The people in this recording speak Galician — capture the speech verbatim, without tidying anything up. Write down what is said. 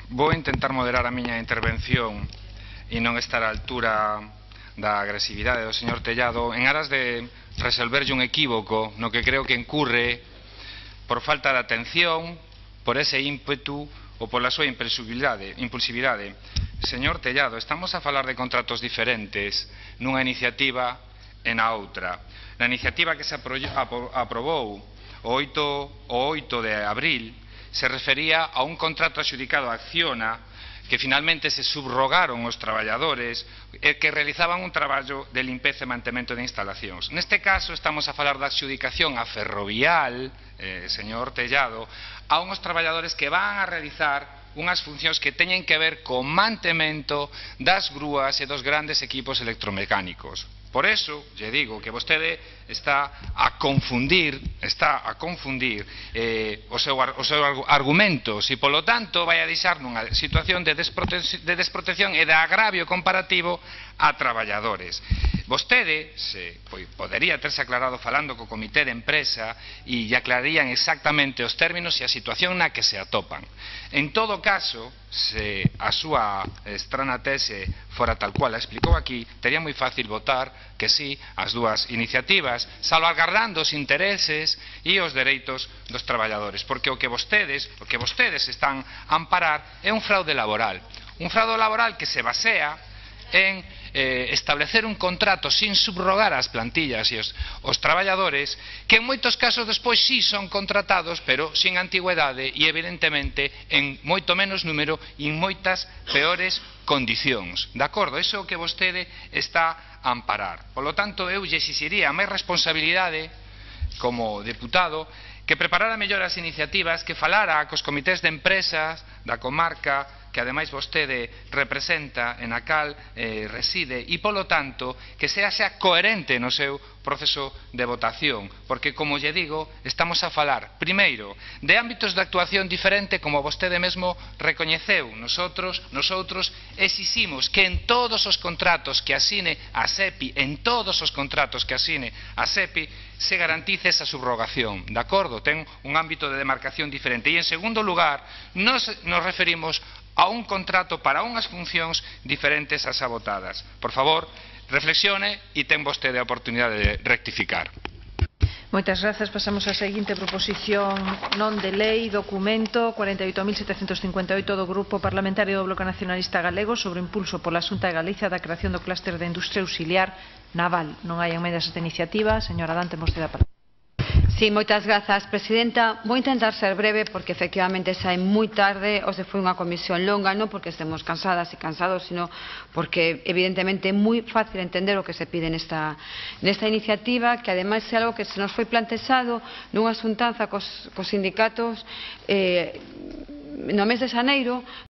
Vou intentar moderar a miña intervención e non estar á altura da agresividade do señor Tellado en aras de resolverlle un equívoco no que creo que incurre por falta de atención, por ese ímpetu ou pola súa impulsividade. impulsividade. Señor Tellado, estamos a falar de contratos diferentes nunha iniciativa e na outra. Na iniciativa que se aprobou o oito de abril se refería a un contrato adxudicado a Acciona que finalmente se subrogaron os traballadores e que realizaban un traballo de limpeza e mantemento de instalacións. Neste caso estamos a falar da adxudicación a Ferrovial, eh, señor Tellado, a unhos traballadores que van a realizar unhas funcións que teñen que ver co mantemento das grúas e dos grandes equipos electromecánicos. Por eso, lle digo que vostede está a confundir, está a confundir eh, o seu, o seu argumentos e, polo tanto, vai a deixar nunha situación de, desprote de desprotección e de agravio comparativo a traballadores. Vostede se pois, podería terse aclarado falando co comité de empresa e lle aclararían exactamente os términos e a situación na que se atopan. En todo caso, se a súa estrana tese fora tal cual a explicou aquí, tería moi fácil votar que sí as dúas iniciativas, salvaguardando os intereses e os dereitos dos traballadores, porque o que vostedes, o que vostedes están a amparar é un fraude laboral, un fraude laboral que se basea en eh, establecer un contrato sin subrogar as plantillas e os, os traballadores que en moitos casos despois sí son contratados pero sin antigüedade e evidentemente en moito menos número e en moitas peores condicións, de acordo? Iso é o que vostede está a amparar. Por lo tanto, eu lle exixiría máis responsabilidade como deputado que preparara mellor as iniciativas, que falara cos comités de empresas da comarca que ademais vostede representa en a cal eh, reside e, polo tanto, que sea, sea coherente no seu proceso de votación, porque, como lle digo, estamos a falar, primeiro, de ámbitos de actuación diferente, como vostede mesmo recoñeceu. Nosotros, nosotros exiximos que en todos os contratos que asine a SEPI, en todos os contratos que asine a SEPI, se garantice esa subrogación, de acordo? Ten un ámbito de demarcación diferente. E, en segundo lugar, nos, nos referimos a un contrato para unhas funcións diferentes ás abotadas. Por favor, reflexione e ten vostede a oportunidade de rectificar. Moitas grazas. Pasamos á seguinte proposición non de lei, documento cuarenta e oito mil setecentos cincuenta e oito do Grupo Parlamentario do Bloque Nacionalista Galego sobre o impulso pola Xunta de Galicia da creación do clúster de industria auxiliar naval. Non hai emendas a esta iniciativa. Señora Dante, vostede a palabra. Sí, moitas grazas, presidenta. Vou intentar ser breve porque efectivamente xa é moi tarde, hoxe foi unha comisión longa, non porque estemos cansadas e cansados, sino porque evidentemente é moi fácil entender o que se pide nesta, nesta iniciativa, que ademais é algo que se nos foi plantexado nunha xuntanza cos, cos sindicatos eh, no mes de xaneiro,